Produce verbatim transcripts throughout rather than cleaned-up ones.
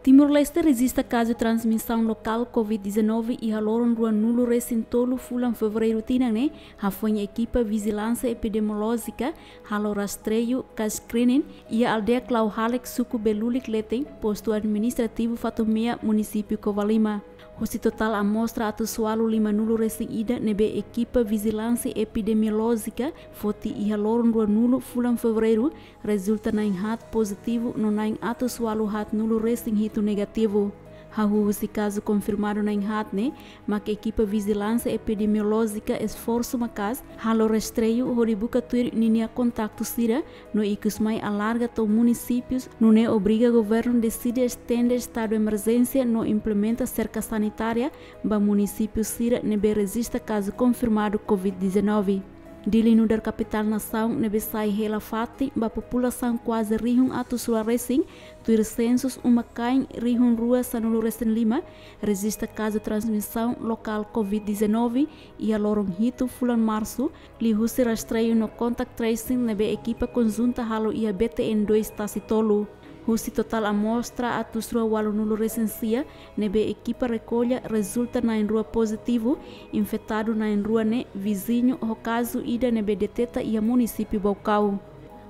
Timor-Leste rejista kazu transmisaun lokál covid dezanove iha loron ruanulu-resin-tolu fulan Fevereiru tinan ne'e, hafoin ekipa vijilánsia epidemiolójika halo rastreiu ka screening iha aldeia Klauhalek, suku Belulik Leten, postu administrativu Fatumea, munisípiu Covalima. Husi totál amostra atus ualu limanulu-resin-ida ne'ebé ekipa vijilánsia epidemiolójika foti iha loron ruanulu fulan Fevereiru, rezulta na'in haat pozitivu no na'in atus ualu haatnulu-resin-hitu negativu. Hahú husi kazu konfirmadu na'in haat ne'e, mak ekipa vijilánsia epidemiolójika esforsu maka'as halo rastreiu hodi buka tuir ninia kontaktu sira, no ikus mai alarga to'o munisípius, nune'e obriga governu deside estende estadu emerjénsia no implementa serka sanitária ba munisípiu sira ne'ebé rejista kazu konfirmadu covid dezanove. Dili nu'udar kapitál nasaun ne'ebé sai hela fatin ba populasaun kuaze rihun atus rua resin, tuir sensus uma-kain rihun rua sanulu-resin-lima, rejista kazu transmisaun lokál covid dezanove iha loron hitu fulan Marsu, liuhusi rastreiu no contact tracing ne'ebé ekipa konjunta halo iha B T N dois Tasi Tolu. Husi totál amostra atus rua ualunulu-resin-sia ne'ebé ekipa rekolla, rezulta na'in rua pozitivu, infetadu na'in rua ne'e viziñu ho kazu ida ne'ebé deteta iha munisípiu Baucau.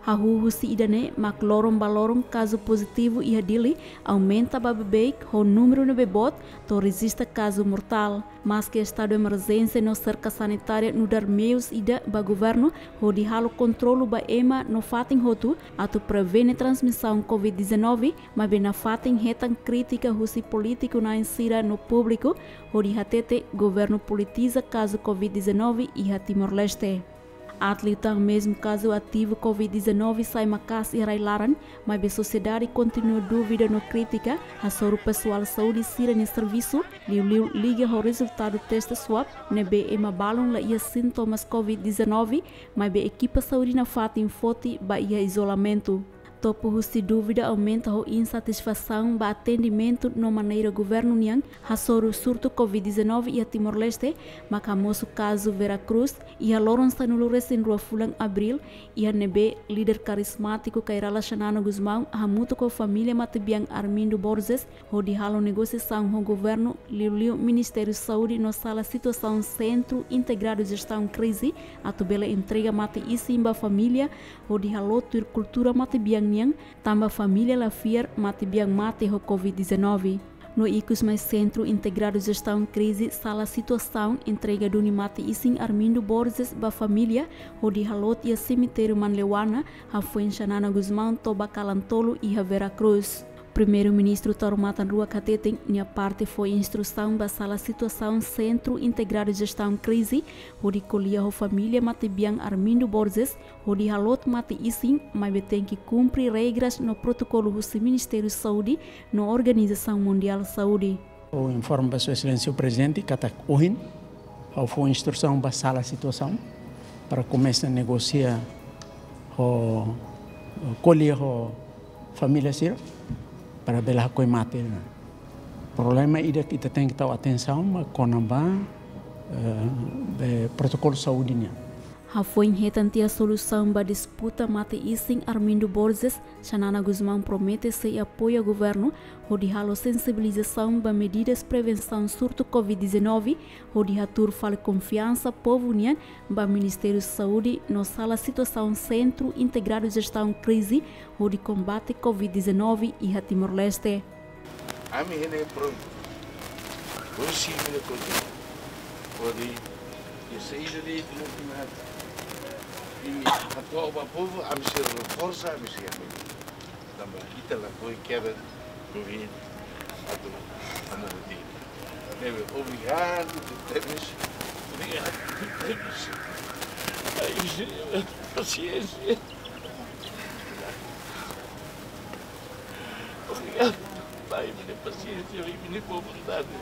Hahú husi ida-ne'e mak loron ba loron kazu pozitivu iha Dili aumenta ba beibeik ho númeru ne'ebé boot, to'o rejista kazu mortál. Maske estadu emerjénsia no serka sanitária nu'udar meius ida ba governu hodi halo kontrolu ba ema no fatin hotu atu prevene transmisaun covid dezanove, maibé nafatin hetan krítika husi polítiku-na'in sira no públiku hodi hatete governu politiza kazu covid dezanove iha Timor-Leste. Aat liután mezmu kazu ativu covid dezanove sai maka'as iha rai-laran, maibé sosiedade kontinua dúvida no krítika hasoru pesoál saúde sira-nia servisu, liuliu liga ho rezultadu teste swab ne'ebé ema balun la iha sintomas covid dezanove, maibé ekipa saúde nafatin foti ba iha izolamentu. Topo husi dúvida aumenta ho insatisfasaun ba atendimentu no maneira governu nian hasoru surtu covid dezanove iha Timor-Leste, mak hamosu kazu Vera Cruz iha loron sanulu-resin-rua fulan Abríl, iha ne'ebé líder karizmátiku Kay Rala Xanana Gusmão hamutuk ho família matebian Armindo Borges hodi halo negosiasaun ho governu, liuliu Ministériu Saúde no Sala Situasaun Sentru Integradu Jestaun Krize, atu bele entrega mate-isin ba família hodi halo tuir kultura matebian nian, tanba família la fiar matebian mate ho covid dezanove. No ikus mai Sentru Integradu Jestaun Krize Sala Situasaun entrega duni mate-isin Armindo Borges ba família hodi halo iha semitériu Manleuana, hafoin Xanana Gusmão toba kalan tolu iha Vera Cruz. Primeiru-Ministru Taur Matan Ruak hateten nia parte fó instrusaun ba Sala Situasaun Sentru Integradu Jestaun Krize hodi ko'alia ho família matebian Armindo Borges hodi halo mate-isin, maibé tenke kumpre regras no protokolu husi Ministériu Saúde no Organizasaun Mundiál Saúde. Ha'u informa ba Sua Exelénsia Prezidente katak ohin ha'u fó instrusaun ba Sala Situasaun para komesa negosia ho, ko'alia ho família sira para bele hakoi mate. Problema ida ke ita tenke tau atensaun mak kona-ba, eh, be protokolu saúde nian. Hafoin hetan tiha solusaun ba disputa mate-isin Armindo Borges, Xanana Gusmão promete sei apoia governu hodi halo sensibilizasaun ba medidas prevensaun surtu covid dezanove, hodi hatuur fali konfiansa povu nian ba Ministériu Saúde no Sala Situasaun Sentru Integradu Jestaun Krize hodi kombate covid dezanove iha Timor-Leste. Ami hene prontu. Hoje sim, mina kote. Hodi, e saída de, de, de, e atual ba povu, ami sei reforsa, ami sei ami. Tanba ita lakohi keda, governu, atu, ami hodi. Ne'ebé, obrigadu, tebes. Obrigadu, tebes. Ai, pasiénsia. Obrigadu, Pai, ba Nia pasiénsia, ba Nia boa vontade.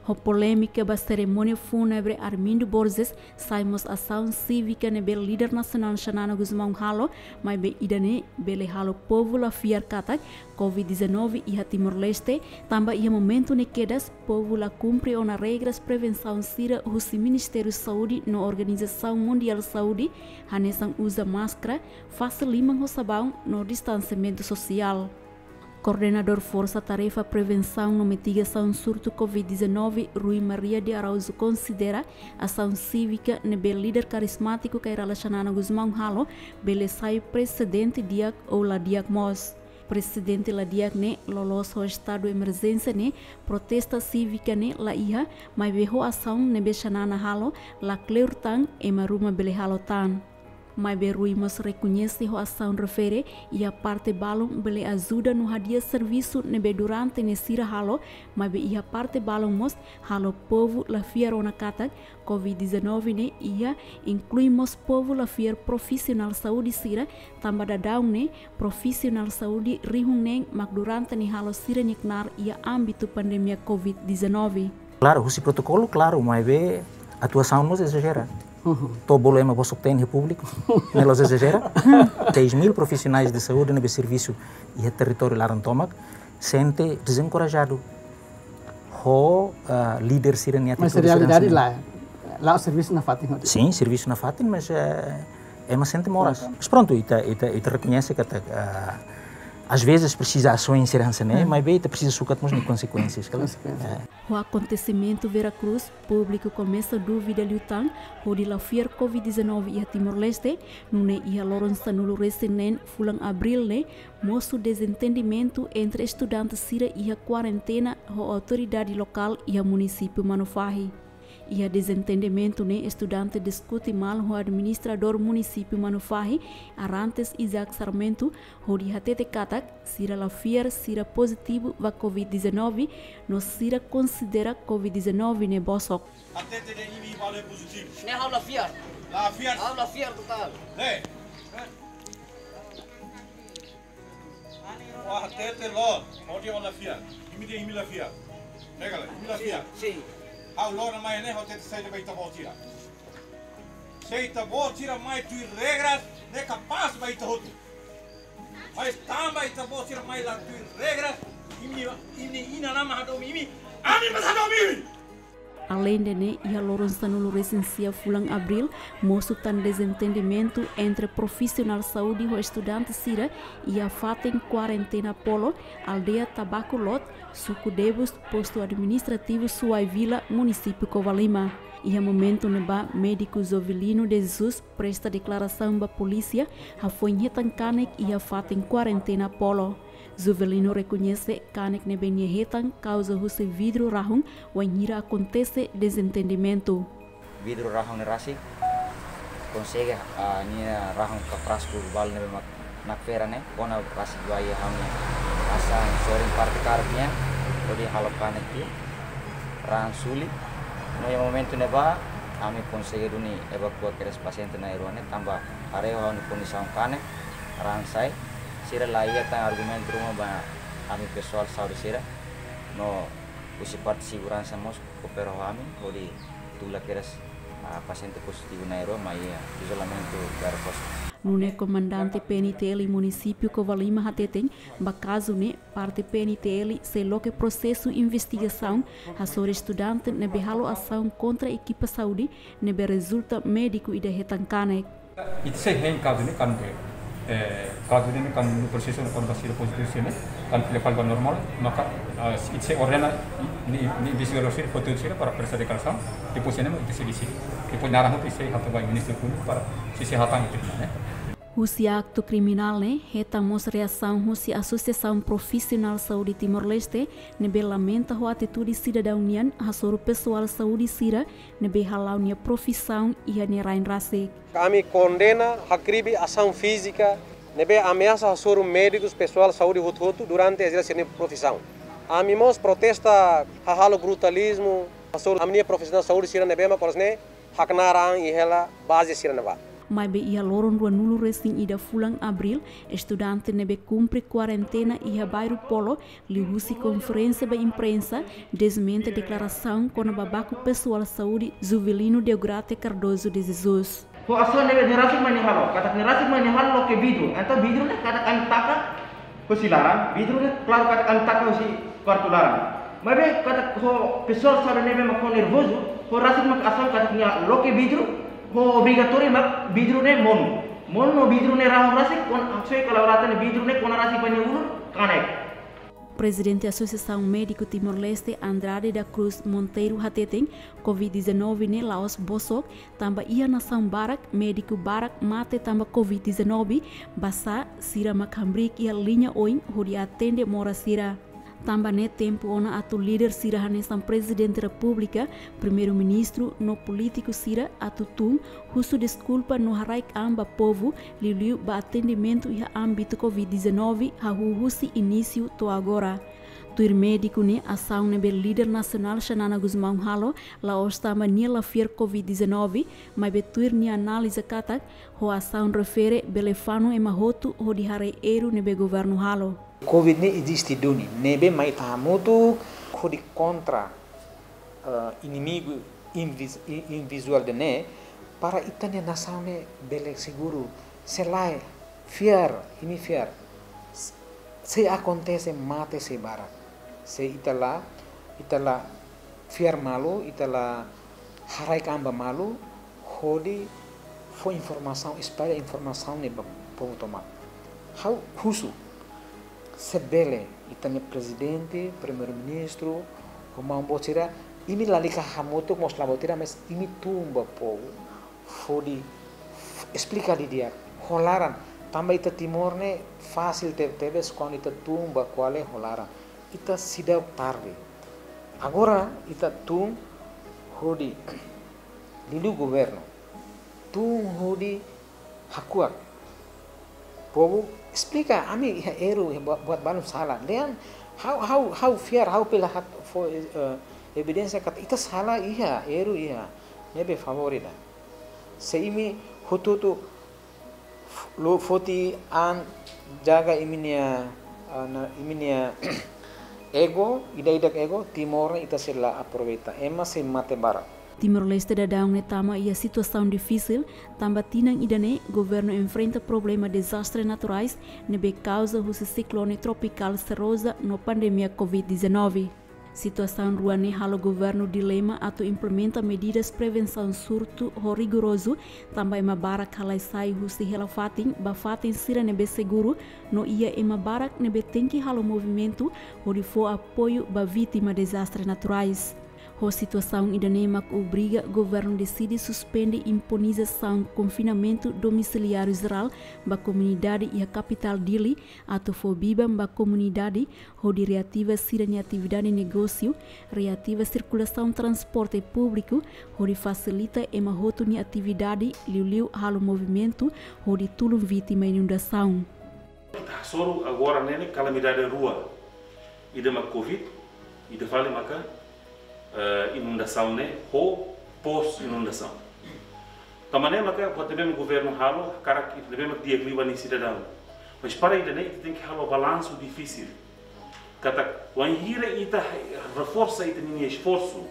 Ho polémika ba serimónia fúnebre Armindo Borges, sai mós asaun sívika ne'ebé líder nasionál Xanana Gusmão halo, maibé ida-ne'e bele halo povu la fiar katak covid dezanove iha Timor-Leste, tanba iha momentu ne'e kedas povu la kumpre ona regras prevensaun sira husi Ministériu Saúde no Organizasaun Mundiál Saúde, hanesan uza máskara, fase liman ho sabaun no distansiamentu sosiál. Koordenadór Forsa Tarefa Prevensaun no Mitigasaun Surtu covid dezanove, Rui Maria de Araújo, konsidera asaun sívika ne'ebé líder karizmátiku Kay Rala Xanana Gusmão halo bele sai presedente di'ak ou la di'ak mós. Presedente la di'ak ne'e loloos ho estadu emerjénsia ne'e, protesta sívika ne'e la iha, maibé ho asaun ne'ebé Xanana halo la kleur tan, ema ruma bele halo tan. Maibé Rui mós rekoñese ho asaun refere iha parte balun bele ajuda no hadi'a servisu ne'ebé durante ne'e sira halo, maibé iha parte balun mós halo povu la fiar ona katak covid dezanove ne'e iha, inklui mós povu la fiar profisionál saúde sira, tanba daudaun ne'e profisionál saúde rihun neen mak durante ne'e halo sira-nia knaar iha ámbitu pandemia covid dezanove. Klaru, husi protokolu, klaru, maibé atuasaun mós ezajera. Uhum. To'o bolu ema bosok-teen iha públiku, ne'e la'ós ezajera. Seis mil profissionais de saúde ne'ebé servisu iha territóriu laran tomak, sente dezenkorajadu ho, ah, líder sira-nia atitude. Mas realidade sira-nia, la, la servisu nafatin hotu. Sin, servisu nafatin, mas, eh, ema sente moras. Mas prontu, ita, ita, ita rekoñese katak, ah, às vezes presiza asaun sira hanesan ne'e, maibé ita presiza sukat mós nia konsekuénsias, kala? Konsekuénsia. Eh. Ho akontesimentu Vera Cruz, públiku komesa dúvida liután hodi la fiar covid dezanove iha Timor-Leste, nune'e iha loron sanulu-resin-neen fulan Abríl ne'e, mosu dezentendimentu entre estudante sira iha kuarentena ho autoridade lokál iha munisípiu Manufahi. Iha dezentendimentu ne'e estudante diskute malu ho administradór munisípiu Manufahi, Arantes Isaac Sarmento, hodi hatete katak sira la fiar sira pozitivu ba covid dezanove, no sira konsidera covid dezanove ne'e bosok. Hatete de'it imi balu pozitivu. Ne'e ha'u la fiar. La fiar. Ha'u la fiar totál. Ne'e. Ó hatete loos, hodi ó la fiar. Imi dehan imi la fiar. Ne'e ka lae, imi la fiar. Sin, sin. Ha'u loron mai ne'e ha'u hatete saida ba ita-boot sira. Se ita-boot sira mai tuir regras, ne'e kapás ba ita hotu. Mas tanba ita-boot sira mai la tuir regras, imi, imi inan-aman hadomi imi, ami mós hadomi imi. Aleinde ne'e, iha loron sanulu-resin-sia fulan Abríl, mosu tan dezentendimentu entre profisionál saúde ho estudante sira iha fatin kuarentena Polo, aldeia Tabaku Lot, suku Debus, postu administrativu Suai Vila, munisípiu Covalima. Iha momentu ne'ebá, médiku Jovelino de Jesus presta deklarasaun ba polísia, hafoin hetan kanek iha fatin kuarentena Polo. Jovelino rekoñese kanek ne'ebé nia hetan kauza husi vidru rahun, wainhira akontese dezentendimentu. Vidru rahun ne'e rasik, konsege, ah, nia rahun ka frasku balu ne'ebé mak nakfera ne'e, kona rasik ba iha ha'u-nia asaun sorin parte karuk nian, hodi halo kanek tiha, rahun suli. No iha momentu ne'ebá, ami konsege duni evakua kedas pasiente na'in-rua ne'e, tanba haree ha'u-nia kondisaun kanek, rahun sai, sira la iha tan argumentu ruma ba ami pesoál saúde sira, no husi parte seguransa mós koopera ho ami, hodi tula kedas, ah, pasiente pozitivu na'in-rua mai iha izolamentu Vera Cruz. Nune'e komandante P N T L munisípiu Covalima hateten, ba kazu ne'e, parte P N T L sei loke prosesu investigasaun hasoru estudante ne'ebé halo asaun kontra ekipa saúde ne'ebé rezulta médiku ida hetan kanek. Ita sei hein kazu ne'e kan, eh, kazu ne'e kan no prosesu ne'e kan ba sira pozitivu sira ne'e, kan fila fali ba normál, maka, ah, ita sei ordena ni, ni investigadór sira, foti sira para presta deklarasaun, depois ne'e ita sei deside. Depois naran hotu ita sei hato'o ba Ministériu Públiku para sei, sei hatán ita ne'e. Husi aktu kriminál ne'e, hetan mós reasaun husi asosiasaun profisionál saúde Timor-Leste, ne'ebé lamenta ho atitude sidadaun nian hasoru pesoál saúde sira ne'ebé hala'o nia profisaun iha nia rain rasik. Ami kondena, hakribi asaun fízika ne'ebé ameasa hasoru médikus, pesoál saúde hotu-hotu durante ezerse sira-nia profisaun. Ami mós protesta hahalok brutalizmu hasoru ami-nia profisionál saúde sira ne'ebé mak oras ne'e haknaar an iha hela baze sira ne'ebá. Maibé iha loron ruanulu-resin-ida fulan Abríl, estudante ne'ebé kumpre kuarentena iha bairru Polo, liuhusi konferénsia ba imprensa, desmente deklarasaun kona-ba baku pesoál saúde Jovelino Deograte Cardoso de Jesus. Ho asaun ne'ebé nia rasik mak nia halo, katak nia rasik mak nia halo loke vidru, entaun vidru ne'e katak ami taka hosi laran, vidru ne'e klaru katak ami taka hosi kuartu laran. Maibé katak ho pesoál saúde ne'ebé mak ho nervozu, ho rasik mak asaun katak nia loke vidru, ho obrigatóriu mak vidru ne'e monu. Monu no vidru ne'e rahun rasik, kona, haksoit ka la'o latan ne'e vidru ne'e kona rasik ba nia ulun, kanek. Prezidente Asosiasaun Médiku Timor-Leste, Andrade da Cruz Monteiro, hateten, Covid dezanove ne'e la'ós bosok, tanba iha nasaun barak, médiku barak mate tanba Covid dezanove, basá sira mak hamriik iha liña oin hodi atende moras sira. Tanba ne'e tempu ona atu líder sira hanesan Prezidente Repúblika, Primeiru-Ministru no polítiku sira atu tun, husu deskulpa no haraik an ba povu, liuliu ba atendimentu iha ámbitu Covid dezanove, hahú husi inísiu to'o agora. Tuir médiku ne'e, asaun ne'ebé líder nasionál Xanana Gusmão halo, la'ós tanba nia la fiar Covid dezanove, maibé tuir nia analiza katak, ho asaun refere bele fanu ema hotu hodi haree erru ne'ebé governu halo. Covid ne'e eziste duni, ne'ebé mai ita hamutuk hodi kontra, eh, inimigu invis-, i-, invizuál ida-ne'e, para ita-nia nasaun ne'e bele seguru, se lae, fiar, imi fiar. S-, se akontese mate sei barak. Se ita la, ita la fiar malu, ita la haraik an ba malu, hodi fó informasaun, espalla informasaun ne'e ba povu tomak. Ha'u husu, se bele, ita-nia Prezidente, Primeiru-Ministru, ho maun boot sira, imi lalika hamutuk mós la buat ida, mas imi tun ba povu, hodi f-, esplika didi'ak, ho laran, tanba ita Timor ne'e fasil te-, tebes kuandu ita tun ba kuale ho laran. Ita seidauk tarde. Agora ita tun hodi liuliu governu. Tun hodi hakuak. Povu esplika, ami iha erru, iha bua-, buat balun sala. Dehan, ha'u, ha'u, ha'u fiar, ha'u bele hato'o fó, eh, evidénsia katak ita sala iha, erru iha. Ne'ebé favór ida. Se imi hotu-hotu f-, lo foti an jaga imi-nia, ah, na, imi-nia ego, ida-idak ego, Timor ne'e ita sei la aproveita. Ema sei mate barak. Timor-Leste daudaun ne'e tama iha situasaun difisil, tanba tinan ida-ne'e governu enfrenta problema dezastre naturais ne'ebé kauza husi siklone tropikál Seroja no pandemia Covid dezanove. Situasaun rua ne'e halo governu dilema atu implementa medidas prevensaun surtu ho rigorozu, tanba ema barak halai sai husi hela fatin ba fatin sira ne'ebé seguru, no iha ema barak ne'ebé tenke halo movimentu hodi fó apoiu ba vítima dezastre naturais. Ho situasaun ida-ne'e mak obriga governu deside suspende imponizasaun konfinamentu domisiliáriu jerál ba komunidade iha kapitál Dili, atu fó biban ba komunidade, hodi reativa sira-nia atividade negósiu, reativa sirkulasaun transporte públiku, hodi fasilita ema hotu nia atividade, liuliu halo movimentu, hodi tulun vítima inundasaun. Ita hasoru agora ne'e kalamidade rua. Ida mak Covid, ida fali maka, eh, inundasaun ne'e, ho pós-inundasaun. Tanba ne'e maka, buat ne'ebé mak governu halo, hakarak ita ne'ebé mak di'ak liu ba nia sidadaun. Mas para ida-ne'e, ita tenke halo balansu difisil. Katak, wainhira ita reforsa ita-nia esforsu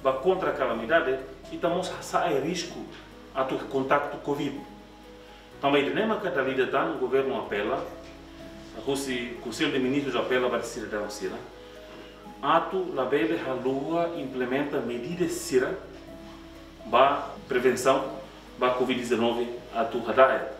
ba kontra kalamidade, ita mós hasa'e risku atu kontaktu Covid. Tanba ida-ne'e maka dala ida tan governu apela, husi Konsellu de Ministrus apela ba sidadaun sira, atu labele haluha implementa medidas sira ba prevensaun ba Covid dezanove atu hada'et.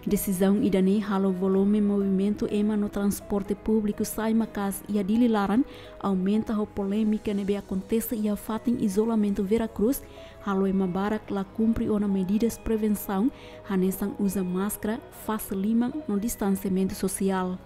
Desizaun ida-ne'e halo volume movimentu ema no transporte públiku sai maka'as iha Dili laran, aumenta ho polémika ne'ebé akontese iha fatin izolamentu Vera Cruz, halo ema barak la kumpre ona medidas prevensaun, hanesan uza máskara, fase liman no distansiamentu sosiál.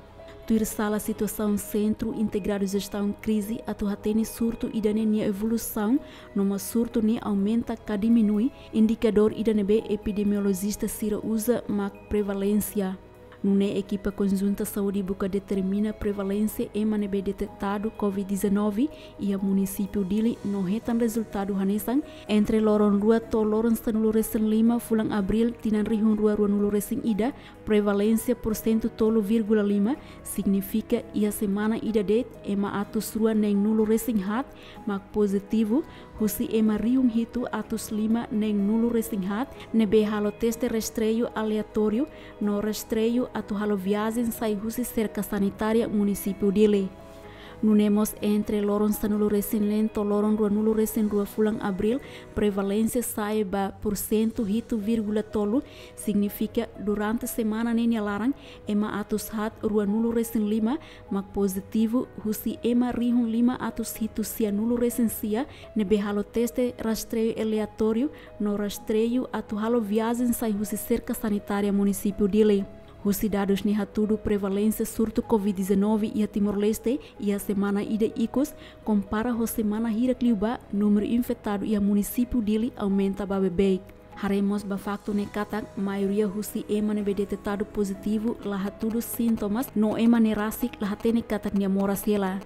Tuir sala situasaun Sentru Integradu Jestaun Krize atu hatene surtu ida-ne'e nia evolusaun, no mós surtu ne'e aumenta ka diminui, indikadór ida ne'ebé epidemiolojista sira uza mak prevalénsia. Nune'e ekipa konjunta saúde buka determina prevalénsia ema ne'ebé detetadu Covid dezanove iha munisípiu Dili no hetan rezultadu hanesan, entre loron rua to'o loron sanulu resin lima fulan Abríl tinan rihun rua ruanulu resin ida, prevalénsia porsentu tolu vírgula lima, signifika iha semana ida de'it ema atus rua neen nulu resin haat mak pozitivu, husi ema rihun hitu atus lima neen nulu resin haat ne'ebé halo teste rastreiu aleatóriu no rastreiu atu halo viajen sai husi serka sanitária munisípiu Dili. Nune'e mós entre loron sanulu resin neen to'o loron ruanulu resin rua fulan Abríl, prevalénsia sa'e ba pursentu hitu vírgula tolu, signifika durante semana ne'e nia laran, ema atus haat ruanulu resin lima mak pozitivu husi ema rihun lima atus hitu sianulu resin sia ne'ebé halo teste rastreiu aleatóriu no rastreiu atu halo viajen sai husi serka sanitária munisípiu Dili. Husi dadus ne'e hatudu, prevalénsia surtu Covid dezanove iha Timor-Leste iha semana ida ikus, kompara ho semana hirak liubá, númeru infetadu iha munisípiu Dili aumenta ba beibeik. Haree mós ba faktu ne'e katak maioria husi ema ne'ebé detetadu pozitivu la hatudu sintomas no ema ne'e rasik la hatene katak nia moras hela.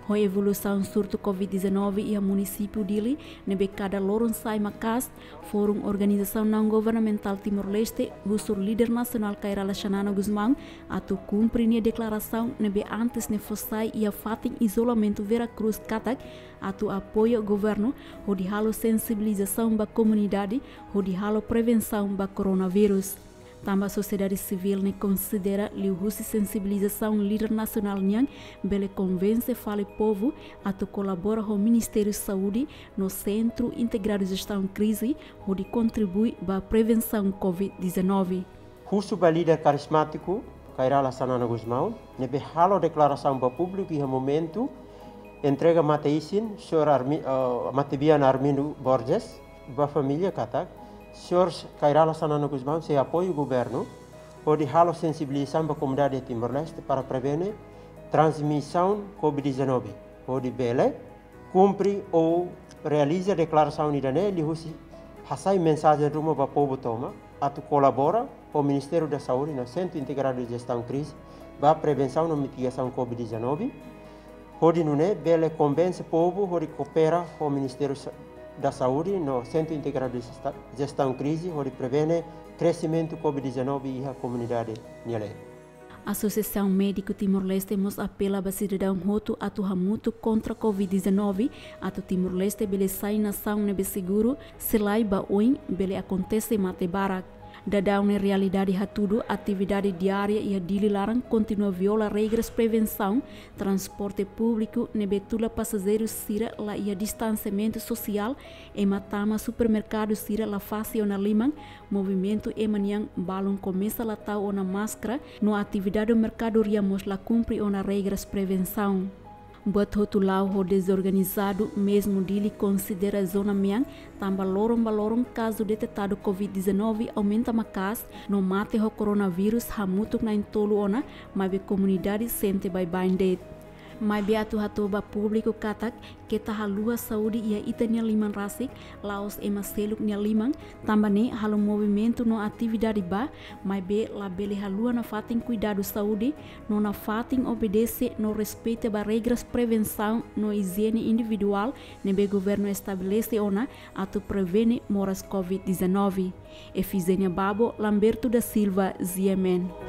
Ho evolusaun surtu Covid dezanove iha munisípiu Dili ne'ebé kada loron sai maka'as, Forum Organizasaun Naun Governamentál Timor-Leste husu líder nasionál Kay Rala Xanana Gusmão atu kumpre nia deklarasaun ne'ebé antes ne'e fó sai iha fatin izolamentu Vera Cruz katak atu apoia governu hodi halo sensibilizasaun ba komunidade hodi halo prevensaun ba koronavírus. Tanba sosiedade sivíl ne'e konsidera liuhusi sensibilizasaun líder nasionál nian bele konvense fali povu atu kolabora ho Ministériu Saúde no Sentru Integradu Jestaun Krize hodi kontribui ba prevensaun Covid dezanove. Husu ba líder karizmátiku Kay Rala Xanana Gusmão ne'ebé halo deklarasaun ba públiku iha momentu entrega mate-isin señór Armi-, eh, matebian Armindo Borges ba família katak señór Kay Rala Xanana Gusmão sei apoia governu hodi halo sensibilizasaun ba komunidade Timor-Leste para prevene transmisaun Covid dezanove, hodi bele kumpre ou realiza deklarasaun ida-ne'e liuhusi hasai mensajen ruma ba povu tomak atu kolabora ho Ministériu da Saúde no Sentru Integradu Jestaun Krize ba prevensaun no mitigasaun Covid dezanove, hodi nune'e bele konvense povu hodi koopera ho Ministériu Sa-, da Saúde no Sentru Integradu Jesta-, Jestaun Krize hodi prevene kresimentu Covid dezanove iha komunidade nia leet. Asosiasaun Médiku Timor-Leste mós apela ba sidadaun hotu atu hamutuk kontra Covid dezanove, atu Timor-Leste bele sai nasaun ne'ebé seguru, se lae ba oin bele akontese mate barak. Daudaun ne'e realidade hatudu atividade diária iha Dili laran kontinua viola regras prevensaun, transporte públiku ne'ebé tula pasajeiru sira la iha distansiamentu sosiál, ema tama supermerkadu sira la fase ona liman, movimentu ema nian balun komesa la tau ona máskara, no atividade merkadoria mós la kumpre ona regras prevensaun. Buat hotu la'o ho dezorganizadu, mezmu Dili konsidera zona mean, tanba loron ba loron kazu detetadu Covid dezanove aumenta maka'as, no mate ho koronavírus hamutuk na'in-tolu ona, maibé komunidade sente baibain de'it. Maibé atu hato'o ba públiku katak keta haluha saúde iha ita-nia liman rasik, la'ós ema seluk nia liman, tanba ne'e halo movimentu no atividade bá, maibé labele haluha nafatin kuidadu saúde, no nafatin obedese no respeita ba regras prevensaun no ijiene individuál ne'ebé governu estabelese ona atu prevene moras Covid dezanove. Efizénia Babo, Lamberto da Silva, G M N.